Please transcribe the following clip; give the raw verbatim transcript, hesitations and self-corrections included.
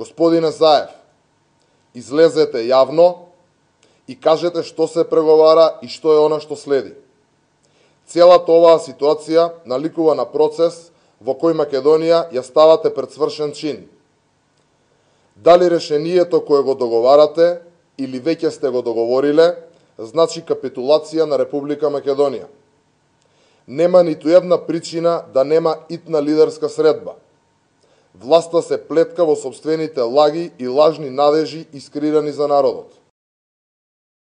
Господине Заев, излезете јавно и кажете што се преговара и што е она што следи. Целата оваа ситуација наликува на процес во кој Македонија ја ставате пред свршен чин. Дали решението кое го договарате или веќе сте го договориле, значи капитулација на Република Македонија. Нема ниту една причина да нема итна лидерска средба. Власта се плетка во сопствените лаги и лажни надежи искреирани за народот.